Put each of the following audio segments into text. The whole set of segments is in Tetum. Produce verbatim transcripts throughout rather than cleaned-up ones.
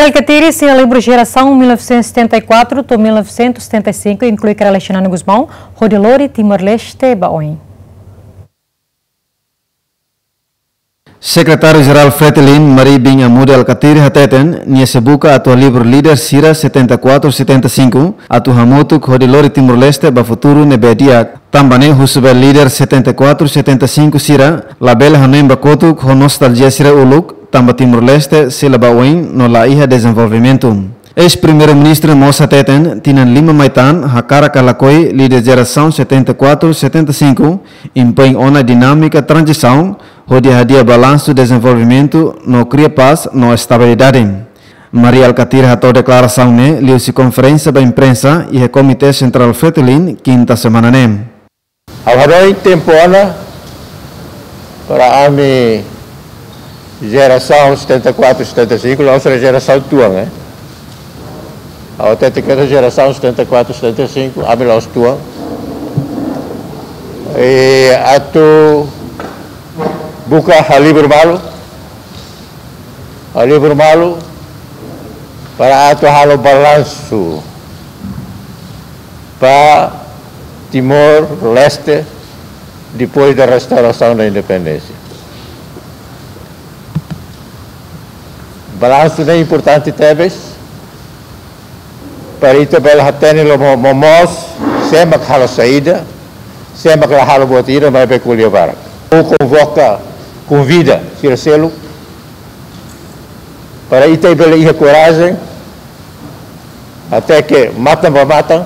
Alkatiri sei halibur jerasaun mil novecentos e setenta e quatro to'o mil novecentos e setenta e cinco, inklui Kara Alexandre Gusmão, hodi lori Timor-Leste ba oin. Sekretáriu Jerál Fretilin, Mari bin Amude Alkatiri hateten, nia sei buka atu halibur líder sira setenta e quatro setenta e cinco, atu hamutuk hodi lori Timor-Leste ba futuru ne'ebé di'ak. Tanba ne'e husu ba líder setenta e quatro setenta e cinco sira, labele hanoin ba kotuk ho nostaljia sira uluk, tanba Timor-Leste sei la ba oin no la iha dezenvolvimentu. Eis-Primeiru-Ministru mós hateten, tinan lima mai tan, hakarak ka lakohi líder jerasaun setenta e quatro setenta e cinco, impoin ona dinámika tranzisaun, hodi hadi'a balansu dezenvolvimentu no kria pás no estabilidade. Mari Alkatiri hato'o deklarasaun ne'e liuhusi konferénsia ba imprensa iha Komité Sentrál Fretilin, kinta semana ne'e. Ha'u hanoin tempu ona para ami jerasaun setenta e quatro setenta e cinco, la'ós jerasaun tuan, eh. Ha'u hatete katak jerasaun setenta e quatro setenta e cinco, ami la'ós tuan. I atu buka halibur malu, halibur malu para atu halo balansu ba Timor-Leste depois da restauração da independência. Balansu ne'e importante tebes, para ita bele hatene loos mo-, momoos, sé mak halo saida, sé mak la halo buat ida, maibé ko'alia barak. Ha'u konvoka, konvida sira seluk, para ita bele iha korajen, hateke matan ba matan,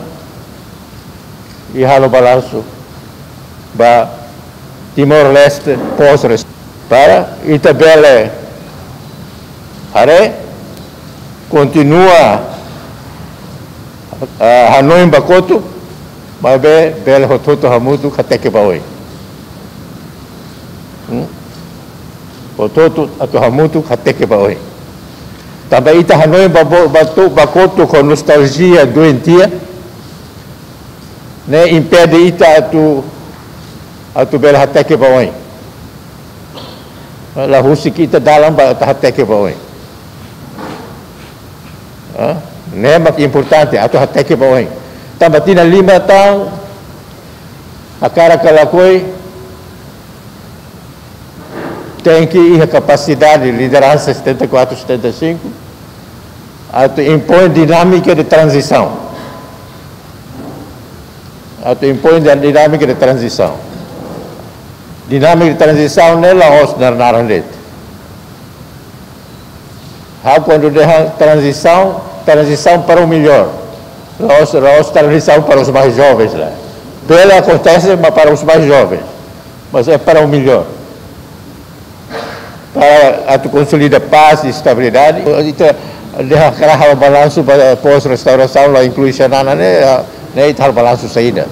i halo balansu ba Timor-Leste pós res-, para ita bele haree, kontinua, ah, hanoin ba kotuk, maibé bele hotu-hotu hamutuk hateke ba oin. Hmm? Hotu-hotu atu hamutuk hateke ba oin. Tanba ita hanoin ba bo-, ba tu-, ba kotuk ho nostaljia doentia, ne'e impede ita atu, atu bele hateke ba oin. La husik ita dalan ba atu hateke ba oin. Ah, ne'e mak importante, atu hateke ba oin. Tanba tinan lima tan, hakarak ka lakohi, tenke iha kapasidade, lideransa setenta e quatro setenta e cinco, atu impoin dinámika de tranzisaun. Atu impoin di-, dinámika de tranzisaun. Dinámika de tranzisaun ne'e la'ós naran-naran de'it. Ha'u kuandu dehan tranzisaun, tranzisaun para o melhor. La'ós, la'ós tranzisaun para os mais jovens, né? Bele akontese, mas para os mais jovens. Mas é para o melhor. Para atu konsolida pás i estabilidade. Ita dehan hakarak halo balansu ba pós-restaurasaun, la inklui Xanana ne'e, ne'e ita halo balansu saida.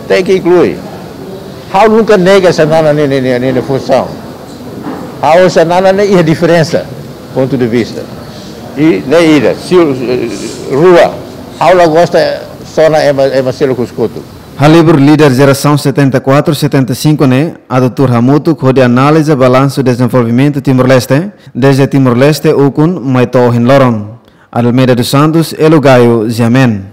Tenke inklui. Ha'u nunka nega Xanana nia, nia, nia, nia, nia funsaun. Ha'u Xanana ne'e iha diferensa, pontu de vista. I ne'e ida, si, eh, rua. Ha'u la gosta sona ema, ema seluk husi kotuk. Halibur líder jerasaun setenta e quatro setenta e cinco ne'e, atu tuur hamutuk hodi analiza balansu dezenvolvimentu Timor-Leste, dezde Timor-Leste ukun mai to'o ohin loron. Adelmeida dos Santos, Elo Gaio, G M N.